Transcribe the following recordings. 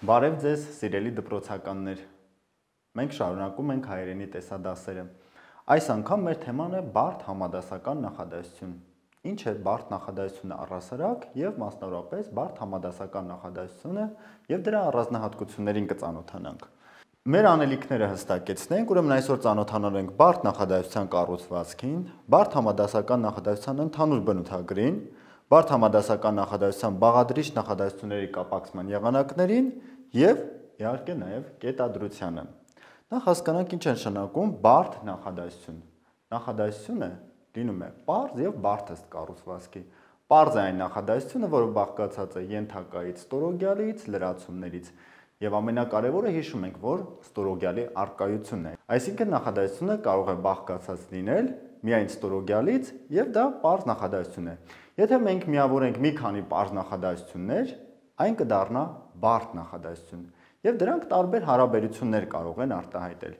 Բարև ձեզ, սիրելի դպրոցականներ։ Մենք շարունակում ենք հայերենի տեսադասերը։ Այս անգամ մեր թեման է բարդ համադասական նախադասություն։ Ինչ է բարդ նախադասությունը առհասարակ եւ մասնավորապես բարդ համադասական նախադասությունը եւ դրա առանձնահատկություններին կծանոթանանք։ Մեր անելիքները հստակեցնենք, ուրեմն այսօր ծանոթանալու ենք բարդ նախադասության կառուցվածքին, բարդ համադասական նախադասության ընդհանուր բնութագրին, բարդ համադասական նախադասության բաղադրիչ նախադասությունների կապակցման եղանակներին եւ իհարկե նաեւ կետադրությանը։ Նախ հասկանանք ինչ է նշանակում բարդ նախադասություն։ Նախադասությունը լինում է պարզ եւ բարդ ըստ կառուցվածքի։ Պարզ է այն նախադասությունը, որը բաղկացած է ենթակայից, ստորոգյալից, լրացումներից եւ ամենակարևորը հիշում ենք, որ ստորոգյալի առկայությունն է։ Այսինքն նախադասությունը կարող է բաղկացած լինել միայն ստորոգյալից եւ դա պարզ նախադասություն է։ Եթե մենք միավորենք մի քանի պարզ նախադասություններ, այն կդառնա բարդ նախադասություն եւ դրանք տարբեր հարաբերություններ կարող են արտահայտել։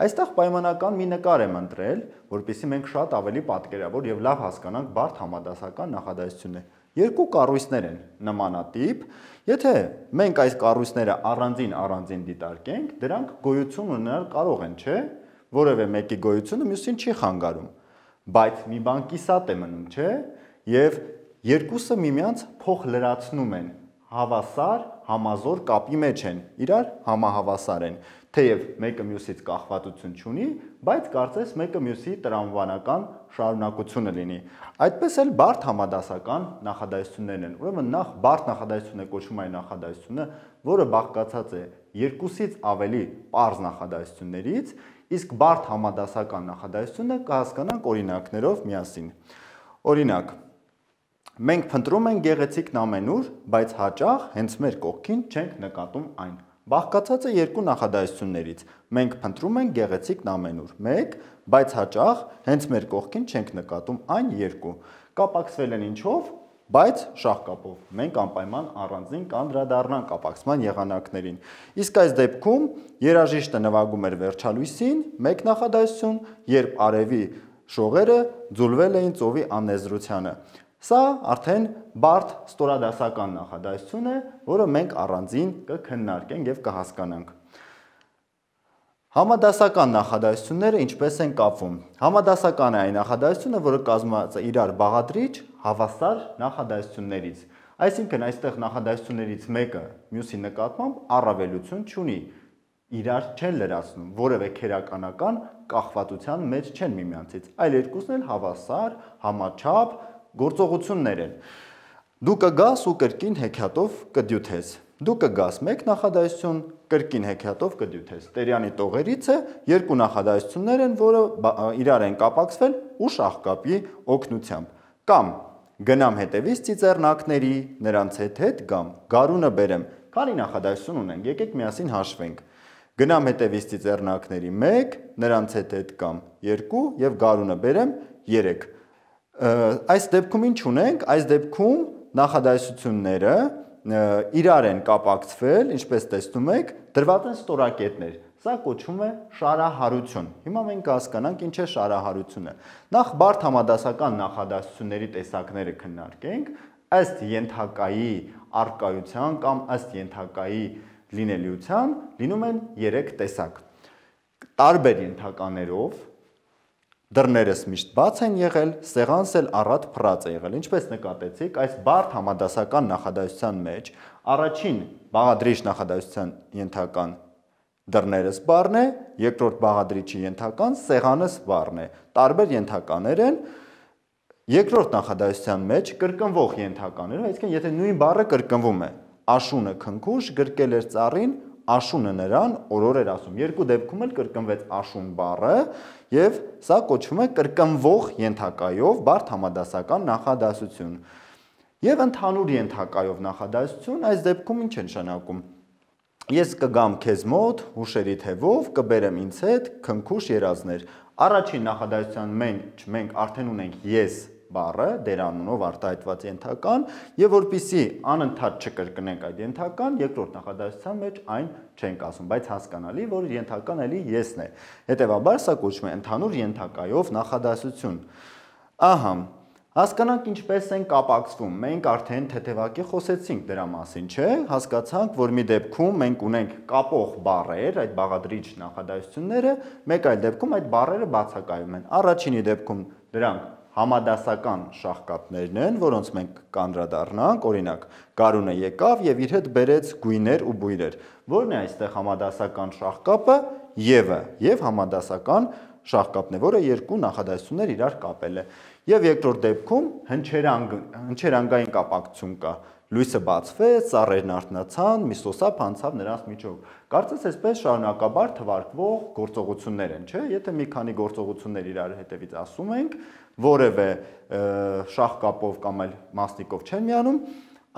Այստեղ պայմանական մի նկար եմ ընտրել, որպեսզի մենք շատ ավելի պատկերավոր եւ լավ հասկանանք բարդ համադասական նախադասությունը։ Երկու կառույցներ են նմանատիպ, եթե մենք այս կառույցները առանձին դիտարկենք, դրանք գոյություն ունենալ կարող են, չէ՞, որևէ մեկի գոյությունը մյուսին չի խանգարում, բայց մի բան կիսատ է մնում, չէ՞, եւ երկուսը միմյանց փոխլրացնում են, հավասար, համազոր կապի մեջ են, իրար համահավասար են, թեև մեկը մյուսից կախվածություն չունի, բայց կարծես մեկը մյուսի տրամաբանական շարունակությունը լինի։ Այդպես էլ բարդ համադասական նախադասություններն են։ Ուրեմն նախ բարդ նախադասությունը կոչվում է նախադասությունը, որը բաղկացած է երկուսից ավելի պարզ նախադասություններից, իսկ բարդ համադասական նախադասությունը կհասկանանք օրինակներով միասին։ Օրինակ, մենք փնտրում ենք գեղեցիկ նամենուր, բայց հաճախ հենց մեր կողքին չենք նկատում այն։ Բաղկացած է երկու նախադասություններից։ Մենք փնտրում ենք գեղեցիկ նամենուր, 1, բայց հաճախ հենց մեր կողքին չենք նկատում այն 2։ Կապակցվել են ինչով, բայց շաղկապով։ Մենք անպայման առանձին կանդրադառնանք կապակցման եղանակներին։ Իսկ այս դեպքում երաժիշտը նվագում էր վերջալույսին, մեկ նախադասություն, երբ արևի շողերը ձուլվել էին ծովի անեզրությանը։ Սա արդեն բարդ ստորադասական նախադասություն է, որը մենք առանձին կքննարկենք եւ կհասկանանք։ Համադասական նախադասությունները ինչպես են կապվում։ Համադասական է այն նախադասությունը, որը կազմված է իրար բաղադրիչ, հավասար նախադասություններից։ Այսինքն այստեղ նախադասություններից մեկը մյուսի նկատմամբ առավելություն չունի, իրար չեն լրացնում, որևէ քերականական կախվածության մեջ չեն միմյանցից, այլ երկուսն էլ հավասար, համաչափ գործողություններ են։ Դու կգաս ու կրկին հեքիաթով կդյութես։ Դու կգաս մեկ նախադասություն, կրկին հեքիաթով կդյութես։ Տերյանի տողերից է երկու նախադասություններ են, որը իրար են կապակցվել ու շաղկապի օգնությամբ։ Կամ գնամ հետևից ծիծեռնակների, նրանց հետ գամ, գարունը բերեմ։ Քանի նախադասություն ունենք, եկեք միասին հաշվենք։ Գնամ հետևից ծիծեռնակների 1, նրանց հետ գամ 2 եւ գարունը բերեմ 3։ Այս դեպքում ինչ ունենք, այս դեպքում նախադասությունները իրար են կապակցվել, ինչպես տեսնում եք, դրված են ստորակետներ։ Սա կոչվում է շարահարություն։ Հիմա մենք կհասկանանք ինչ է շարահարությունը։ Նախ բարդ համադասական նախադասությունների տեսակները քննարկենք, ըստ ենթակայի առկայության կամ ըստ ենթակայի լինելիության լինում են 3 տեսակ։ Տարբեր ենթականերով դռներս միշտ բաց են եղել, սեղանս էլ առատ փռած է եղել։ Ինչպես նկատեցիք, այս բարդ համադասական նախադասության մեջ առաջին բաղադրիչ նախադասության ենթական դռներս բառն է, երկրորդ բաղադրիչի ենթական սեղանս բառն է։ Տարբեր ենթականեր են։ Երկրորդ նախադասության մեջ կրկնվող ենթականերով, այսինքն եթե նույն բառը կրկնվում է, աշունը քնքուշ գրկել էր ծառին, աշունը նրան օրոր էր ասում։ Երկու դեպքում էլ կրկնվեց աշուն բառը եւ սա կոչվում է կրկնվող ենթակայով բարդ համադասական նախադասություն։ Եվ ընդհանուր ենթակայով նախադասություն այս դեպքում ինչ է նշանակում։ Ես կգամ քեզ մոտ հուշերի թևով, կբերեմ ինձ հետ քնքուշ երազներ։ Առաջին նախադասության մենք արդեն ունենք ես բառը դերանունով արտահայտված ենթական եւ որpիսի անընդհատ չկրկնենք այդ ենթական, երկրորդ նախադասության մեջ այն չենք ասում, բայց հասկանալի, որ ենթական էլի եսն է։ Հետևաբար սա կոչվում է ընդհանուր ենթակայով նախադասություն։ Ահա, Հասկանանք ինչպես են կապակցվում։ Մենք արդեն թեթևակի խոսեցինք դրա մասին, չէ՞։ Հասկացանք, որ մի դեպքում մենք ունենք կապող բառեր, այդ բաղադրիչ նախադասությունները, մեկ այլ դեպքում այդ բառերը բացակայում են։ Առաջինի դեպքում դրանք համադասական շաղկապներն են, որոնց մենք կանդրադառնանք, օրինակ, Գարունը եկավ եւ իր հետ բերեց գույներ ու բույրեր։ Որն է այստեղ համադասական շաղկապը? Եվը, եւ համադասական շաղկապն է, որը երկու նախադասություններ իրար կապել է։ Եվ երկրորդ դեպքում հնչերանգային կապակցություն կա։ Լույսը բացվեց, ծառերն արթնացան, մի սոսափ անցավ նրանց միջով։ Կարծես այսպես շարունակաբար թվարկվող գործողություններ են, չէ՞։ Եթե մի քանի գործողություններ իրար հետևից ասում ենք, որևէ շաղկապով կամ այլ մասնիկով չեն միանում,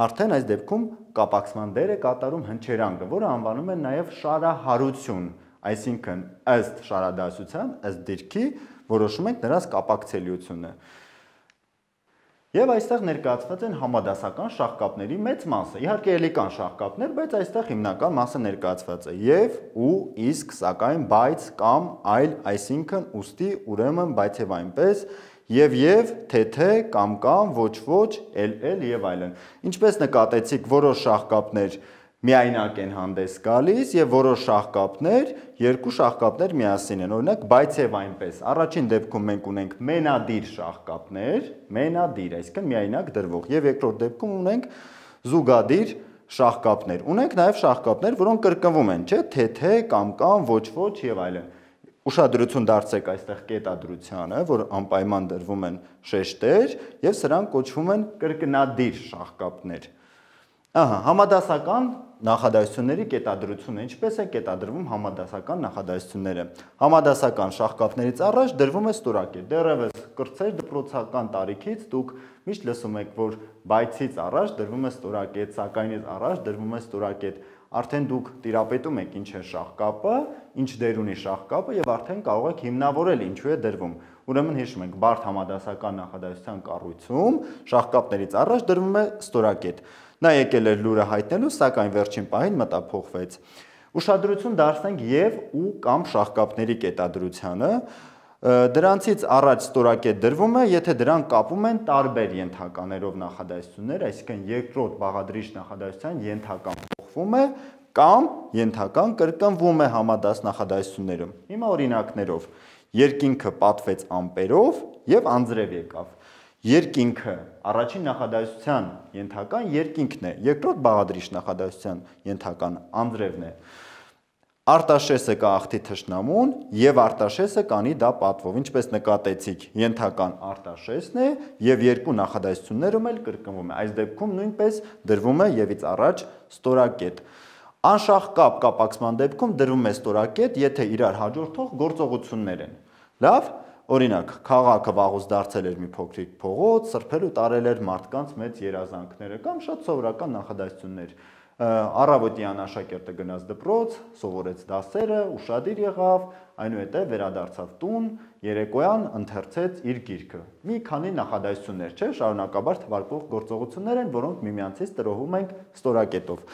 արդեն այս դեպքում կապակցման դեր է կատարում հնչերանգը, որը անվանում են նաև շարահարություն, այսինքն ըստ շարադասության, ըստ դիրքի որոշում ենք նրանց կապակցելիությունը։ Եվ այստեղ ներկայացված են համադասական շաղկապների մեծ մասը։ Իհարկե էլի կան շաղկապներ, բայց այստեղ հիմնական մասը ներկայացված է եւ, ու, իսկ, սակայն, բայց, կամ, այլ, այսինքն, ուստի, ուրեմն, բայց եւ այնպես, եւ, թե, կամ, ոչ, էլ եւ այլն։ Ինչպես նկատեցիք, որոշ շաղկապներ միայնակ են հանդես գալիս եւ որոշ շաղկապներ, երկու շաղկապներ միասին են, օրինակ, բայց եւ այնպես։ Առաջին դեպքում մենք ունենք մենադիր շաղկապներ, մենադիր, այսինքն միայնակ դրվող, եւ երկրորդ դեպքում ունենք զուգադիր շաղկապներ։ Ունենք նաեւ շաղկապներ, որոնք կրկնվում են, չէ՞, թե, կամ, ոչ եւ այլն։ Ուշադրություն դարձրեք այստեղ կետադրությանը, որ անպայման դրվում են շեշտեր եւ սրանք կոչվում են կրկնադիր շաղկապներ։ Ահա, համադասական նախադասությունների կետադրությունը, ինչպես է կետադրվում համադասական նախադասությունները։ Համադասական շաղկապներից առաջ դրվում է ստորակետ։ Դեռևս կրծեր դպրոցական տարիքից դուք միշտ լսում եք, որ բայցից առաջ դրվում է ստորակետ, սակայնից առաջ դրվում է ստորակետ։ Արդեն դուք տիրապետում եք ինչ է շաղկապը, ինչ դեր ունի շաղկապը եւ արդեն կարող եք հիմնավորել ինչու է դրվում։ Ուրեմն հիշում ենք, բարդ համադասական նախադասության կառույցում շաղկապներից առաջ դրվում է ստորակետ։ Նա եկել էր լուրը հայտնելու, սակայն վերջին պահին մտափոխվեց։ Ուշադրություն դարձնենք եւ ու կամ շաղկապների կետադրությանը։ Դրանցից առաջ ստորակետ դրվում է, եթե դրանք կապում են տարբեր ենթականերով նախադասություններ, այսինքն երկրորդ բաղադրիչ նախադասության ենթական փոխվում է կամ ենթական կրկնվում է համադաս նախադասություններում։ Հիմա օրինակներով. երկինքը պատվեց ամպերով եւ անձրև եկավ։ Երկինքը առաջին նախադասության ենթական երկինքն է, երկրորդ բաղադրիչ նախադասության ենթական անձրևն է։ Արտաշեսը կա աղթի թշնամուն եւ արտաշեսը կանի դա պատվով, ինչպես նկատեցիք, ենթական արտաշեսն է եւ երկու նախադասություններում էլ կրկնվում է։ Այս դեպքում նույնպես դրվում է եւից առաջ ստորակետ։ Անշաղկապ կապակցման դեպքում դրվում է ստորակետ, եթե իրար հաջորդող գործողություններ են։ Լավ, օրինակ, քաղաքը վաղուց դարձել էր մի փոքրիկ փողոց, սրբել ու տարել էր մարդկանց մեծ երազանքները կամ շատ սովորական նախադասություններ։ Առավոտյան աշակերտը գնաց դպրոց, սովորեց դասերը, ուշադիր եղավ, այնուհետև վերադարձավ տուն, երեկոյան ընթերցեց իր գիրքը։ Մի քանի նախադասություններ, չէ՞, շարունակաբար թվարկվող գործողություններ են, որոնք միմյանցից տրոհում ենք ստորակետով։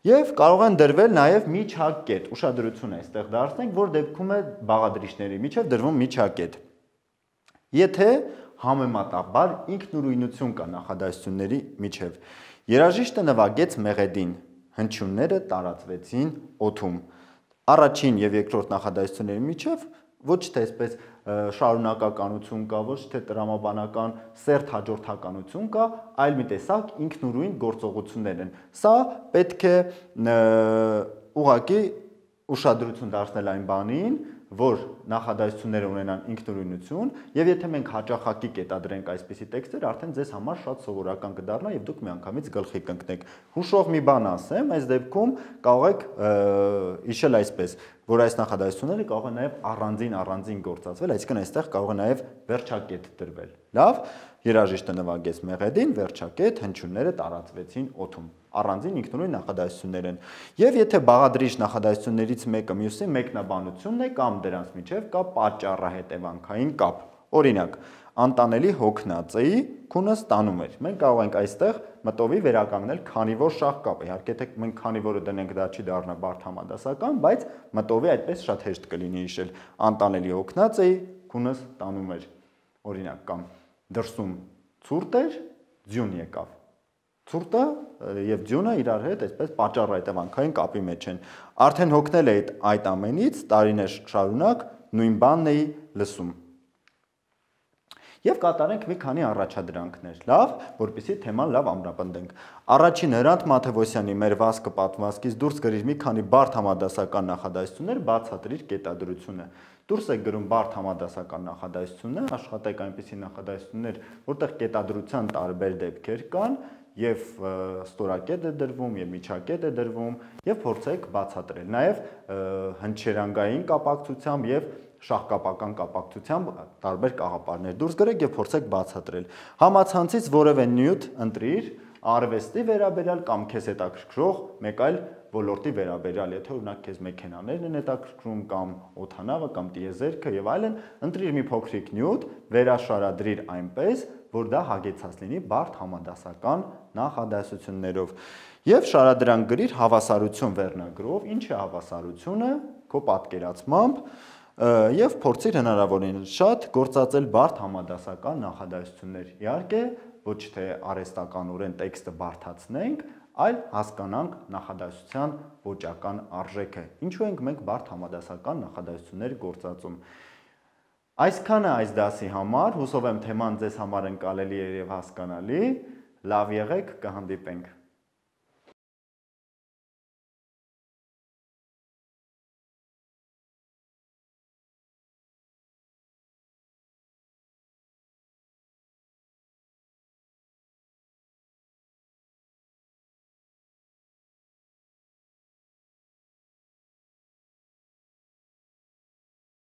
Եվ կարող են դրվել նաև միջակետ։ Ուշադրություն այստեղ դարձնենք, որ դեպքում է բաղադրիչների միջև դրվում միջակետ։ Եթե համեմատաբար ինքնուրույնություն կա նախադասությունների միջև, երաժիշտը նվագեց մեղեդին, հնչյունները տարածվեցին օդում։ Առաջին եւ երկրորդ նախադասությունների միջև ոչ թե այսպես շարունակականություն կա, ոչ թե տրամաբանական սերտ հաջորդականություն կա, այլ մի տեսակ ինքնուրույն գործողություններ են։ Սա պետք է ուղղակի ուշադրություն դարձնել այն բանին, որ նախադասությունները ունենան ինքնուրույնություն, եւ եթե մենք հաճախակի կետադրենք այսպիսի տեքստեր, արդեն ձեզ համար շատ սովորական կդառնա եւ դուք միանգամից գլխի կընկնեք։ Հուշող մի բան ասեմ, այս դեպքում կարող եք հիշել այսպես, որ այս նախադասությունները կարող են նաեւ առանձին գործածվել, այսինքն այստեղ կարող է նաեւ վերջակետ դրվել։ Լավ, երաժիշտը նվագեց մեղեդին, վերջակետ, հնչյունները տարածվեցին օդում։ Առանձին ինքնուրույն նախադասություններ են։ Եվ եթե բաղադրիչ նախադասություններից մեկը մյուսի մեկնաբանությունն է կամ դրանց միջև կա պատճառահետևանքային կապ։ Օրինակ, անտանելի հոգնածեի քունը ստանում էր։ Մենք կարող ենք այստեղ մտովի վերականգնել քանիվոր շաղկապը։ Իհարկե, եթե մենք քանիվորը դնենք, դա չի դառնա բարդ համադասական, բայց մտովի այդպես շատ հեշտ կլինի հիշել։ Անտանելի հոգնածեի քունը ստանում էր։ Օրինակ, կամ դրսում ցուրտ էր, ձյուն եկավ։ Ցուրտը եւ ձյունը իրար հետ այսպես պատճառ-հետևանքային կապի մեջ են։ Արդեն հոգնել էի այդ ամենից, տարիներ շարունակ նույն բանն էի լսում։ Եվ կատարենք մի քանի առաջադրանքներ, լավ, որպեսզի թեման լավ ամրապնդենք։ Առաջին Հրանտ Մաթևոսյանի մեր վազքը պատմվածքից դուրս գրիր մի քանի բարդ համադասական նախադասություններ, բացատրիր կետադրությունը։ Դուրս եք գրում բարդ համադասական նախադասություններ, աշխատեք այնպիսի նախադասություններ, որտեղ կետադրության տարբեր դեպքեր կան, եւ ստորակետ է դրվում, եւ միջակետ է դրվում, եւ փորձեք բացատրել։ Նաեւ հնչերանգային կապակցությամբ եւ շահկապական կապակցությամբ տարբեր կաղապարներ դուրս գրեք եւ փորձեք բացատրել։ Համացանցից որևէ նյութ ընտրիր, արվեստի վերաբերյալ կամ քեզ հետաքրքրող մեկ այլ ոլորտի վերաբերյալ, եթե օրինակ քեզ մեքենաներն են հետաքրքրում կամ օդանավը կամ տիեզերքը եւ այլն, ընտրիր մի փոքրիկ նյութ, վերաշարադրիր այնպես, որ դա հագեցած լինի բարդ համադասական նախադասություններով։ Եվ շարադրանք գրիր հավասարություն վերնագրով, ինչ է հավասարությունը քո պատկերացմամբ, եւ փորձիր հնարավորինս շատ գործածել բարդ համադասական նախադասություններ։ Իհարկե, ոչ թե արհեստականորեն տեքստը բարդացնենք, այլ հասկանանք նախադասության ոճական արժեքը։ Ինչու ենք մենք բարդ համադասական նախադասություններ գործածում։ Այսքանը այս դասի համար, հուսով եմ թեման ձեզ համար ընկալելի է եւ հասկանալի։ Լավ եղեք, կհանդիպենք։